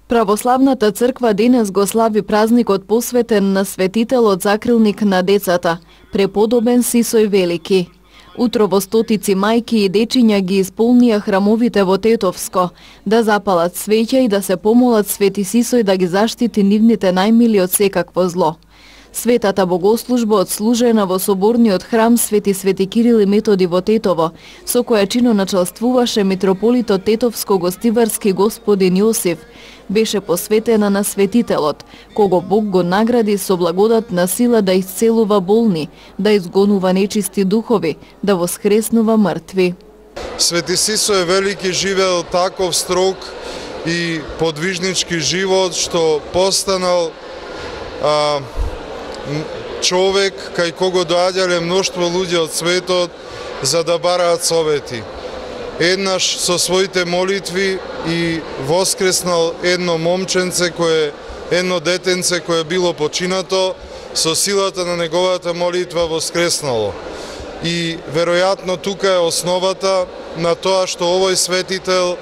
Православната црква денес го слави празникот посветен на светителот закрилник на децата, преподобен Сисој Велики. Утрово стотици мајки и дечиња ги исполнија храмовите во Тетовско, да запалат свеќа и да се помолат Свети Сисој да ги заштити нивните најмили од секакво зло. Светата богослужба отслужена во соборниот храм Свети Кирил и Методи во Тетово, со која чиноначалствуваше митрополитот Тетовско-гостиварски господин Јосиф, беше посветена на светителот, кого Бог го награди со благодатна сила да исцелува болни, да изгонува нечисти духови, да воскреснува мртви. Свети Сисој Велики живеел таков строг и подвижнички живот, што постанал човек кај кого доаѓале мноштво луѓе од светот за да бараат совети. Еднаш со своите молитви и воскреснал едно момченце едно детенце кое било починато, со силата на неговата молитва воскреснало. И веројатно тука е основата на тоа што овој светител,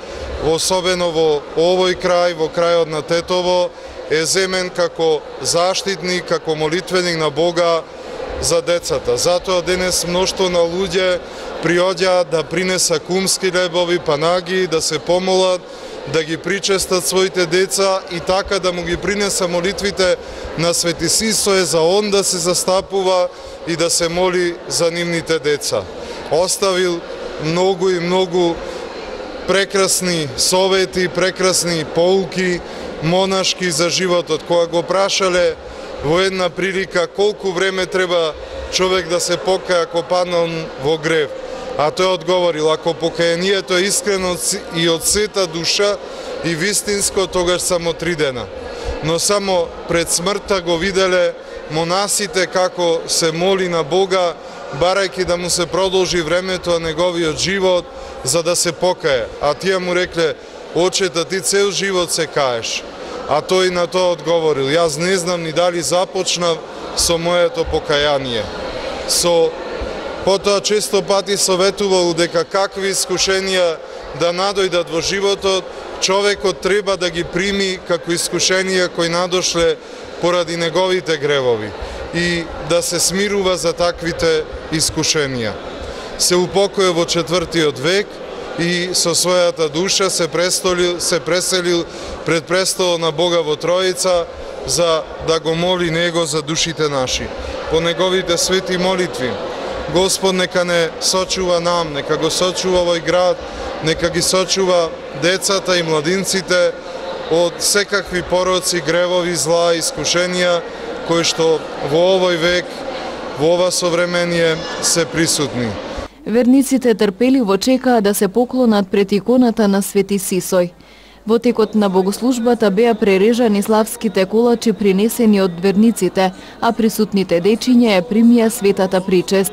особено во овој крај, во крајот на Тетово, е земен како заштитник, како молитвеник на Бога за децата. Затоа денес мноштво на луѓе приоѓаат да принеса кумски лебови, панаги, да се помолат, да ги причестат своите деца и така да му ги принеса молитвите на Свети Сисој за он да се застапува и да се моли за нивните деца. Оставил многу и многу прекрасни совети, прекрасни поуки, монашки за животот. Кога го прашале во една прилика колку време треба човек да се покаја ако паднал во грев, а тој одговорил, ако покајанието е искрено и од сета душа и вистинско, тогаш само 3 дена. Но само пред смртта го виделе монасите како се моли на Бога, барајќи да му се продолжи времето на неговиот живот, за да се покае. А тие му рекле, очета, ти цел живот се каеш. А тој на тоа одговорил, јас не знам ни дали започнав со моето покаяние. Потоа често пати советувал дека какви искушенија да надојдат во животот, човекот треба да ги прими како искушенија кои надошле поради неговите гревови и да се смирува за таквите искушенија. Се упокои во 4. век и со својата душа се преселил пред престолот на Бога во Троица за да го моли Него за душите наши. По неговите свети молитви, Господ нека не сочува нам, нека го сочува овој град, нека ги сочува децата и младинците од секакви пороци, гревови, зла, искушенија, кои што во овој век, во ова современие се присутни. Верниците трпеливо чекаа да се поклонат пред иконата на Свети Сисој. Во текот на богослужбата беа прережани славските колачи принесени од верниците, а присутните дечиња ја примија светата причест.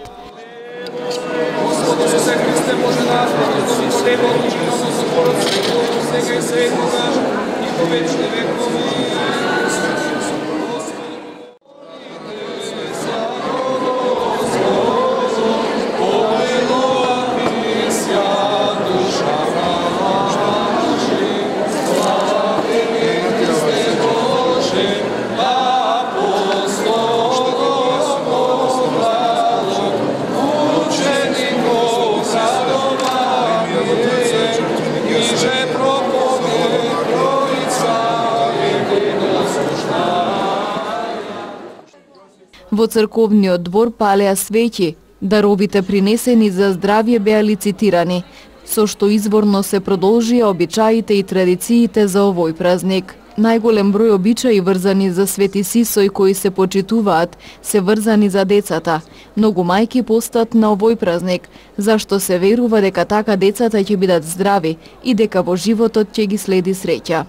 Во црковниот двор палеа свеќи, даровите принесени за здравје беа лицитирани, со што изворно се продолжија обичаите и традициите за овој празник. Најголем број обичаи врзани за Свети Сисој кои се почитуваат, се врзани за децата. Многу мајки постат на овој празник, зашто се верува дека така децата ќе бидат здрави и дека во животот ќе ги следи среќа.